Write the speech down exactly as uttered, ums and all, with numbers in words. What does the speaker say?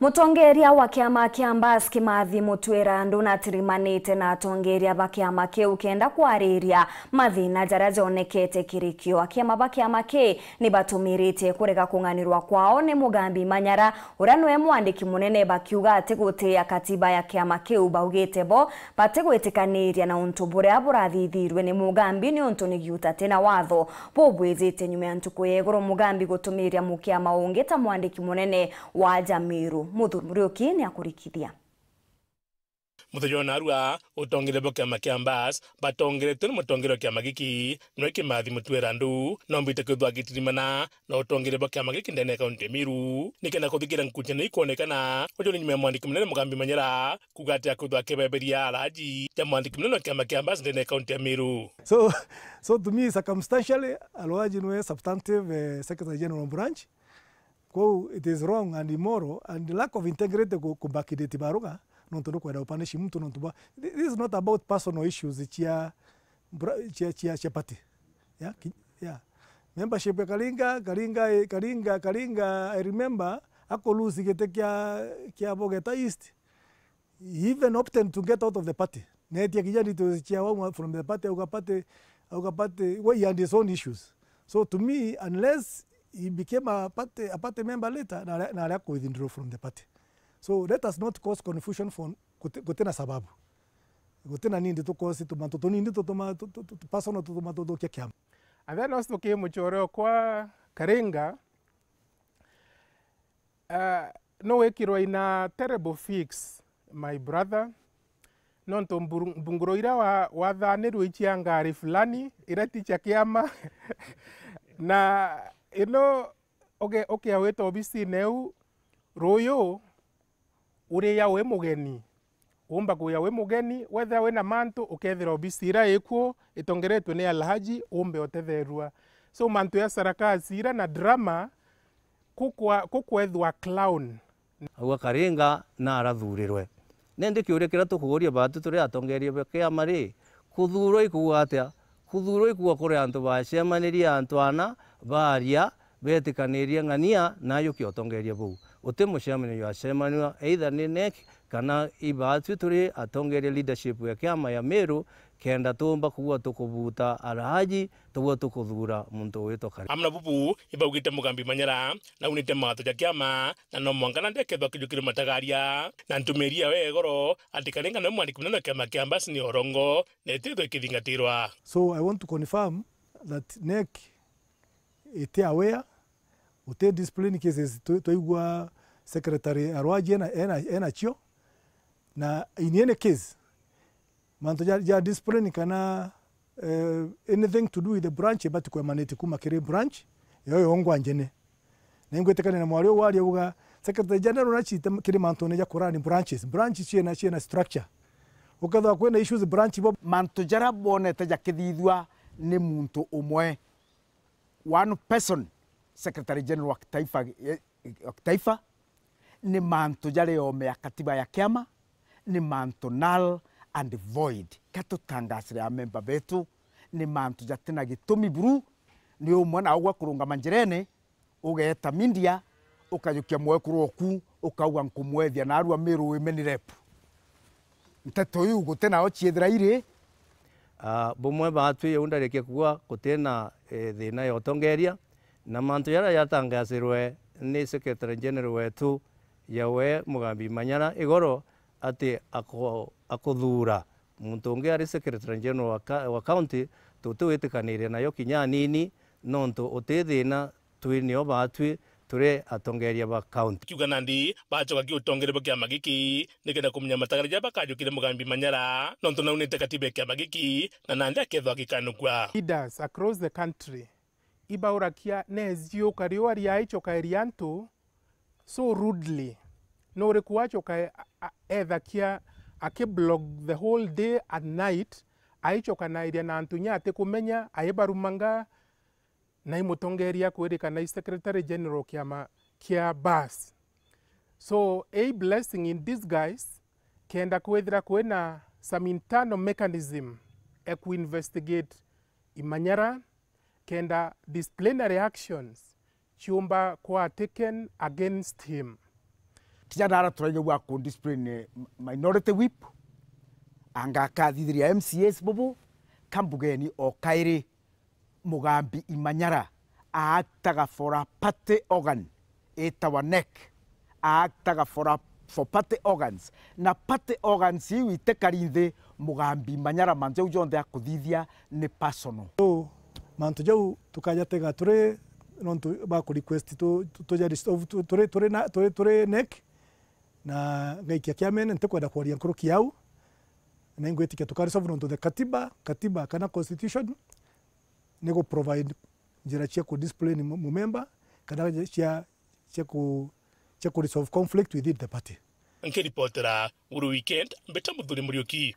Mutongeria wa kiama kia Mbas Kimathi Mutwira ndunatirimanite na atongeria ba kiama kiu kenda kwariria mathina jaria jonekete kirikio. Akiama ba kiama ki ni batumiritie kurega kung'anirwa kwao ni Mugambi Manyara, uria niwe mwandiki munene, bakiuga ati gutia katiba ya kiama kiu. Baugite bo batigwitikaniria na untu buria burathithirwe ni Mugambi, niuntu ni giuta tina watho bubwijite nyuma ya ntuku ya iguru Mugambi gutumiria mukiama ungi ta mwandiki munene wa Jamiru. Muthuuri Muriuki ni akurikithia. Muthenya wa narua, utongeria bwa kiama kia Mbas batongeretwe ni mutongeria wa kiama giki, niwe Kimathi Mutwira Ndu, nombite kwithwa agitirimana na utongeria bwa kiama giki ndene ya kaunti ya Meru, nikenda kuthikiira nkuchano ikwonekana uju ni nyuma ya mwandiki munene Mugambi Manyara kuuga ati akwithwa akibeberia araji ja mwandiki munene wa kiama kia Mbas ndene ya kaunti ya Meru. So, so to me, circumstantially, Alwaji niwe substantive, eh, Secretary General branch. Kwou it is wrong and immoral and lack of integrity ku, ku backdate Baruga, nontu nukwenda upunish muntu nontu bwa, thi-, this is not about personal issues cia bra-, cia, cia, cia party. Yeah, ki-, yeah. Membership ya Karinga, Karinga, Karinga, Karinga, I remember, ako lose giti kia, kia Bogeta East. He even opted to get out of the party. Netia kinya details cia wauma from the party, auga party, auga party, well, he had his own issues. So to me, unless he became a party, a party member later, na, na aria ku withdraw from the party. So let us not cause confusion for guti-, gutina sababu. Gutina nindi tu cause tumantu tunini tutuma, tu, tu, tu, tu personal tutuma tuthukia kiama. And then also tukimuchoreo kwa Karinga, Ah, no wikirwa in a terrible fix, my brother. Nontu mburu-, mbunguro iria wa-, wathanirwe icia ngari fulani, iria ti cia kiama. Na ino uge-, ukia wita obisine iu, ruyu, uria wi mugeni. Uumba kuya wi mugeni, wethira wina mantu, ukethira obisi iria ikuo itongeretwe ni Alhaji, uumbe utetherua. So, mantu ya sarakasi ira na drama, kukwa-, kukwethwa clown. Auga Karinga na arathurirwe. Nindi kiuria kiria tukuuria baatu turi atongeria ba kiama ri, kuthuurwa ikuuga atia? Kuthuurwa ikuuga kuri antu baacemanirie, antu ana baaria, beetikanirie ng'ania na ayukia utongeria buu. Uti mucemanio jwacemanua, either ni NEC kana ibaatwi turi atongeria leadership ya kiama ya Meru, kenda tuumba kuuga tukubuuta Alhaji, tuuga tukuthuura muntu ugwitwa Karinga. Amwe na bubu ibaugite Mugambi Manyara naunite mawatho ja kiama, na no mwanka nandi akethwa akijukirwe matagaria, na ntumiri yawe ya igoro ati Karinga niwe mwandiki munene wa kiama kia Mbas ni urongo, na itithwe ikithingatirwa. So I want to confirm that NEC iti aware, guti discipline cases twi-, twaigua Secretary Arwaji ena, ena, enacio, na in any case, mantu ja, ja discipline kana, eh, anything to do with the branch, ibati ku emanate kuma kiri branch yo yongwa njene. Na ingwitikania na mwari uyu waria uga, Secretary General nachite kiri mantune ja kurani branches. Branch ciena, ciena structure. Ukethwa kwina issues branch bo. Mantu jaria bonete jakithithua ni muntu umwe, one person, Secretary General wa kitaifa, eh, wa kitaifa, ni mantu jari ome ya katiba ya kiama, ni mantu null and void. Ka tutangasire amemba betu, ni mantu jatina gitumi buru, ni umwe na ugwa kurungama njirene, ugeeta media, ukajukia mwekuru oku, ukauga, "Nkumwethia narua Meru Women Rep." Nteto iu guti nao ciethira iri. Ah, bumwe baatwi jau ndarikia kuuga gutina, eh, thina ya utongeria, na mantu jaria jatangasirwe ni Secretary General wetu, yawe Mugambi Manyara igoro, ati ako-, akuthuura muntu ungi ari Secretary General wa ka-, wa county, tutiwitikaniria nayo kinya anini, nontu uti thina twi nio baatwi turi atongeria ba county. Kiuga nandi bacoka ki utongeria bwa kiama giki nikenda kumenya matagaria jaria bakajukire Mugambi Manyara, nontu naunite katiba ya kiama giki, na nandi akethwa agikanukua. Leaders across the country ibaurakia nezi ukari uria aicokaeria antu so rudely. Nuriku wacoka e-, a-, a-, ethakia akiblock the whole day and night, aicokanairia na antu inya atikumenya, aibarumanga, na i mutongeria kwirikana i Secretary General kiama kia Mbas. So, a blessing in disguise, kenda kwithira kwina some internal mechanism e ku investigate i Manyara, kenda disciplinary actions ciumba kwa taken against him. Tiga nara turaigua ku discipline minority whip, anga akathithiria M C As bubu, kambugeni o kairi Mugambi Imanyara aaktaga for a party organ itawa neck, aaktaga for a, for party organs, na party organs iu itikari nthi Mugambi Imanyara, mantu jau jonthe akuthithia ni personal. So, mantu jau tukajatega turi nontu ba ku request tu, tu, tuja resolve tu, turi, turi na, turi, turi neck, na ngaikia kiamene, ntikwenda kwaria nkuruki yau, na ingwitikia tuka resolve nontu the katiba, katiba kana constitution ni gu provide njira cia ku discipline mu, mu member, kana cia, cia ku, cia ku resolve conflict within the party. Nkiripotera Guru Weekend, mbita Muthuri Muriuki.